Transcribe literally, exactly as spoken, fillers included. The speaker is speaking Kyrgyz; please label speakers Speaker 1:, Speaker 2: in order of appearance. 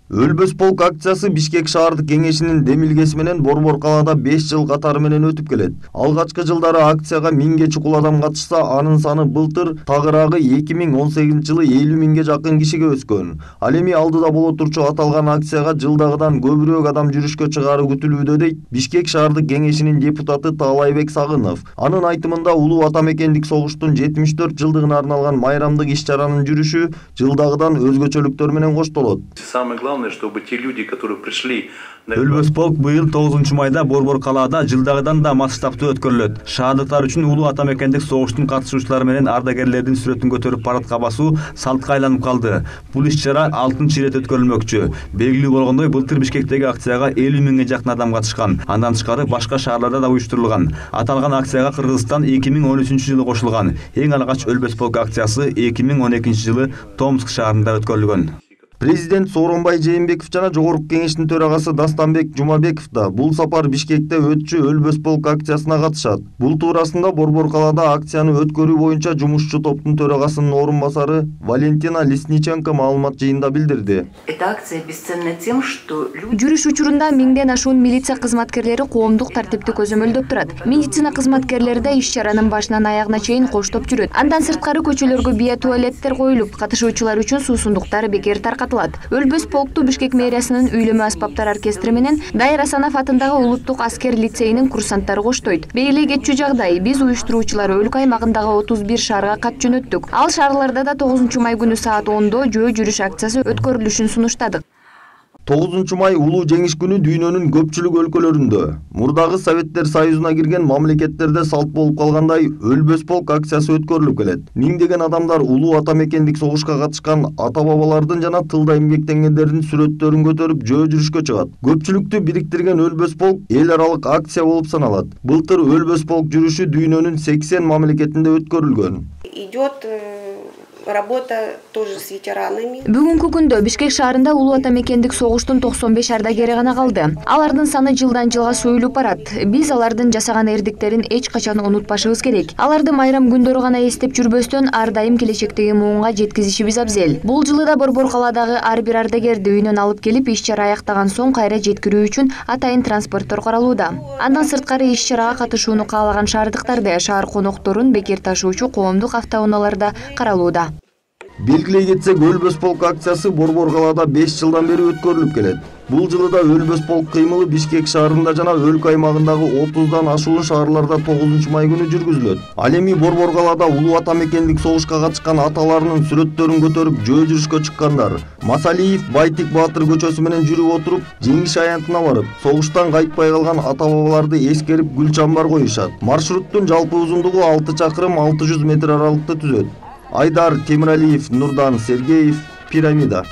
Speaker 1: Өлбөс полк акциясы Бишкек шаардык кеңешинин демилгеси менен Борбор калаада беш жыл катары менен өтүп келет. Алгачкы жылдары акцияга миңге чукул адам катышса, анын саны былтыр тагыраагы эки миң он сегизинчи жылы элүү миңге жакын кишиге өскөн. Ал эми алдыда боло турчу аталган акцияга жылдагыдан көбүрөөк адам жүрүшкө чыгаары күтүлүүдө дейт Бишкек шаардык кеңешинин депутаты Таалайбек Сагынов. Анын айтымында улуу ата мекендик согуштун жетимиш төрт жылдыгына арналган майрамдык иш-чаранын жүрүшү жылдагыдан өзгөчөлүктөр менен коштолот.
Speaker 2: Чтобы те люди, которые пришли...
Speaker 3: Өлбөс полк быйыл тогузунчу майда Борбор калаада жылдагыдан да масштабтуу өткөрүлөт. Шаардыктар үчүн улуу ата мекендик согуштун катышуучулары менен ардагерлердин сүрөтүн көтөрүп парадка басуу салтка айланып калды. Бул иш-чара алтынчы ирет өткөрүлмөкчү. Белгилүү болгондой, былтыр Бишкектеги акцияга элүү миңге жакын адам катышкан. Андан тышкары башка шаарларда да уюштурулган. Аталган акцияга Кыргызстан эки миң он үчүнчү жылы кошулган. Эң алгач Өлбөс полк акциясы эки миң он экинчи жылы Томск шаарында өткөрүлгөн.
Speaker 1: Президент Сооронбай Жээнбеков жана Жогорку кеңештин төрагасы Дастанбек Жумабеков да бул сапар Бишкекте өтчү Өлбөс полк акциясына катышат. Бул туурасында Борбор калаада акцияны өткөрүү боюнча жумушчу топтун төрагасынын орун басары Валентина Лесниченко маалымат жыйында билдирди.
Speaker 4: Жүрүш учурунда миңден ашуун милиция кызматкерлери коомдук тартипти көзөмөлдөп турат. Медицина кызматкерлери да иш-чаранын башынан аягына чейин коштоп жүрөт. Андан сырткары көчөлөргө бия туалеттер коюлуп, катышуучулар үчүн суусундуктар бекер таркатылат. Өлбөс полкту Бишкек мэриясынын үйлөмө аспаптар оркестри менен Дайыр Асанов атындагы улуттук аскер лицейинин курсанттары коштойт. Бейли кетчү жагдай, биз уюштуруучулар өлкө аймагындагы отуз бир шаарга кат жөнөттүк. Ал шаарларда да тогузунчу май күнү саат ондо жөө жүрүш акциясы өткөрүлүшүн сунуштадык.
Speaker 1: тогузунчу май улуу жеңиш күнү дүйнөнүн көпчүлүк өлкөлөрүндө, мурдагы Советтер Союзуна кирген мамлекеттерде салт болуп калгандай Өлбөс полк акциясы өткөрүлүп келет. Миңдеген адамдар улуу ата мекендик согушка катышкан ата-бабалардын жана тылда эмгектенгендердин сүрөттөрүн көтөрүп жөө жүрүшкө чыгат. Көпчүлүктү бириктирген Өлбөс полк эл аралык акция болуп саналат. Былтыр Өлбөс полк жүрүшү дүйнөнүн сексен мамлекетинде өткөрүлгөн.
Speaker 5: Идет работа тоже с ветеранами.
Speaker 4: Бүгүнкү күндө Бишкек шаарында улуу ата мекендик согуштун токсон беш ардагери гана калды. Алардын саны жылдан жылга союлуп барат. Биз алардын жасаган эрдиктерин эч качан унутпашыбыз керек. Аларды майрам күндөрү гана эстеп жүрбөстөн ар дайым келечектеги муунга жеткизишибиз абзел. Бул жылы да Борбор калаадагы ар бир ардагерди үйүнөн алып келип иш-чара аяктаган соң кайра жеткирүү үчүн атайын транспорттор каралууда. Андан сырткары иш-чарага катышууну каалаган шаардыктарды, шаар конокторун бекер ташуучу коомдук автоунааларда каралууда.
Speaker 1: Белгилей кетсек, Өлбөс полк акциясы Борбор калаада беш жылдан бери өткөрүлүп келет. Бул жылы да Өлбөс полк кыймылы Бишкек шаарында жана өлкө аймагындагы отуздан ашуун шаарларда тогузунчу май күнү жүргүзүлөт. Ал эми Борбор калаада улуу ата мекендик согушка катышкан аталарынын сүрөттөрүн көтөрүп жөө жүрүшкө чыккандар. Масалиев Байтик Баатыр көчөсү менен жүрүп отуруп, жеңиш аянтына барып, согуштан кайтпай калган ата-бабаларды эскерип гүл чамбар коюшат. Маршруттун жалпы узундугу алты чакырым алты жүз метр аралыкты түзөт. Айдар Темиралиев, Нурдан Сергеев, Пирамида.